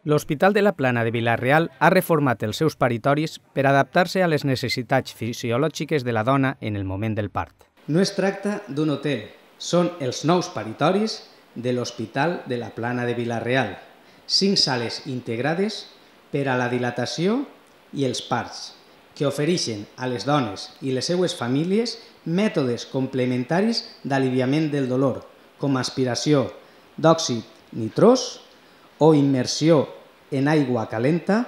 L'Hospital de la Plana de Vila-real ha reformat els seus paritoris per adaptar-se a les necessitats fisiològiques de la dona en el moment del part. No es tracta d'un hotel, són els nous paritoris de l'Hospital de la Plana de Vila-real, 5 sales integrades per a la dilatació i els parts, que ofereixen a les dones i les seues famílies mètodes complementaris d'aliviament del dolor, com aspiració d'òxid nitrós o immersió en aigua calenta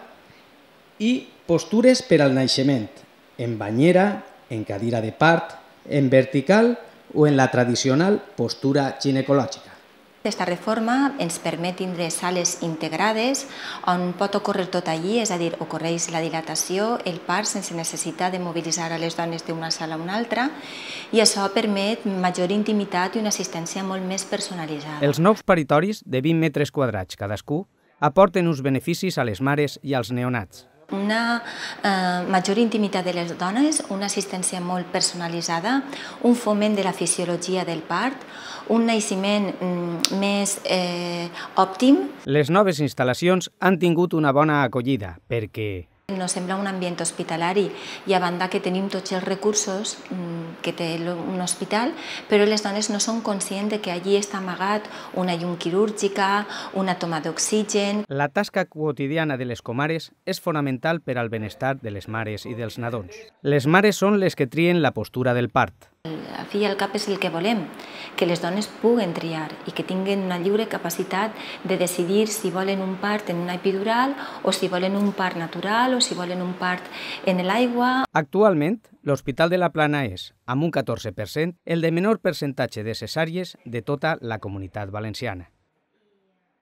i postures per al naixement, en banyera, en cadira de part, en vertical o en la tradicional postura ginecològica. Aquesta reforma ens permet tindre sales integrades on pot ocórrer tot allí, és a dir, ocorreix la dilatació, el part sense necessitat de mobilitzar a les dones d'una sala a una altra i això permet major intimitat i una assistència molt més personalitzada. Els nous paritoris, de 20 metres quadrats cadascú, aporten uns beneficis a les mares i als neonats. Una major intimitat de les dones, una assistència molt personalitzada, un foment de la fisiologia del part, un naixement més òptim. Les noves instal·lacions han tingut una bona acollida perquè no sembla un ambient hospitalari i a banda que tenim tots els recursos que té un hospital, però les dones no són conscients que allí està amagat una llum quirúrgica, una toma d'oxigen. La tasca quotidiana de les comares és fonamental per al benestar de les mares i dels nadons. Les mares són les que trien la postura del part. Al fi i al cap és el que volem, que les dones puguen triar i que tinguin una lliure capacitat de decidir si volen un part en una epidural o si volen un part natural o si volen un part en l'aigua. Actualment, l'Hospital de la Plana és, amb un 14%, el de menor percentatge de cesàries de tota la Comunitat Valenciana.